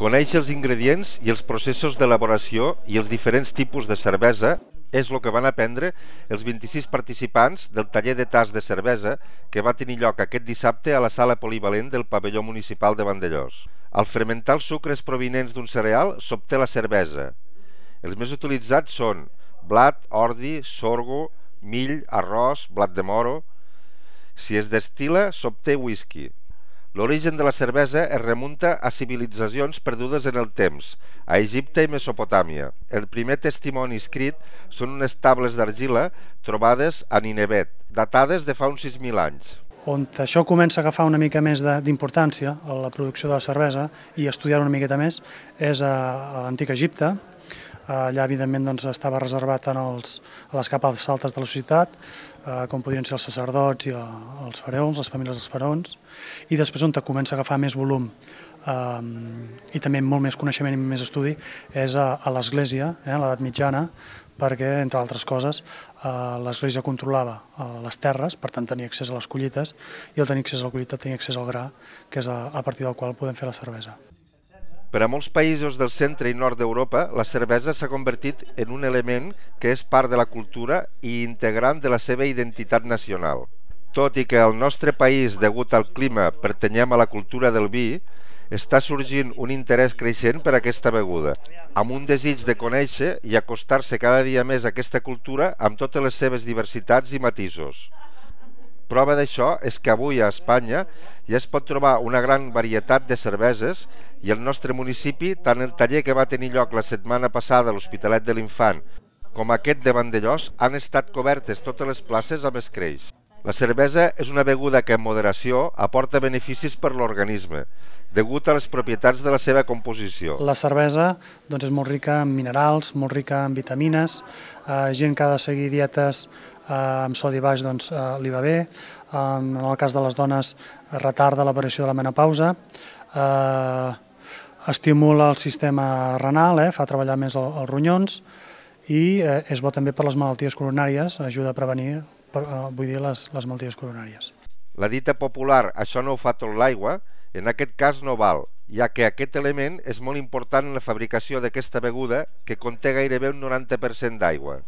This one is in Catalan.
Conèixer els ingredients i els processos d'elaboració i els diferents tipus de cervesa és el que van aprendre els 26 participants del taller de tast de cervesa que va tenir lloc aquest dissabte a la sala polivalent del pavelló municipal de Vandellòs. Al fermentar els sucres provinents d'un cereal s'obté la cervesa. Els més utilitzats són blat, ordi, sorgo, mill, arròs, blat de moro. Si es destil·la, s'obté whisky. L'origen de la cervesa es remunta a civilitzacions perdudes en el temps, a Egipte i Mesopotàmia. El primer testimoni escrit són unes tables d'argila trobades a Ninivet, datades de fa uns 6.000 anys. On això comença a agafar una mica més d'importància a la producció de la cervesa i estudiar una miqueta més és a l'antic Egipte. Allà, evidentment, estava reservat a les capes altes de la societat, com podrien ser els sacerdots i els faraons, les famílies dels faraons, i després on comença a agafar més volum i també molt més coneixement i més estudi és a l'Església, a l'edat mitjana, perquè, entre altres coses, l'Església controlava les terres, per tant tenia accés a les collites, i al tenir accés a la collita tenia accés al gra, que és a partir del qual podem fer la cervesa. Per a molts països del centre i nord d'Europa, la cervesa s'ha convertit en un element que és part de la cultura i integrant de la seva identitat nacional. Tot i que al nostre país, degut al clima, pertanyem a la cultura del vi, està sorgint un interès creixent per aquesta beguda, amb un desig de conèixer i acostar-se cada dia més a aquesta cultura amb totes les seves diversitats i matisos. Prova d'això és que avui a Espanya ja es pot trobar una gran varietat de cerveses i al nostre municipi, tant el taller que va tenir lloc la setmana passada a l'Hospitalet de l'Infant com aquest de Vandellòs han estat cobertes totes les places amb escreix. La cervesa és una beguda que en moderació aporta beneficis per l'organisme, degut a les propietats de la seva composició. La cervesa és molt rica en minerals, molt rica en vitamines, gent que ha de seguir dietes amb sodi baix li va bé, en el cas de les dones retarda l'aparició de la menopausa, estimula el sistema renal, fa treballar més els ronyons i és bo també per les malalties coronàries, ajuda a prevenir les malalties coronàries. La dita popular "això no ho fa tot l'aigua" en aquest cas no val, ja que aquest element és molt important en la fabricació d'aquesta beguda que conté gairebé un 90% d'aigua.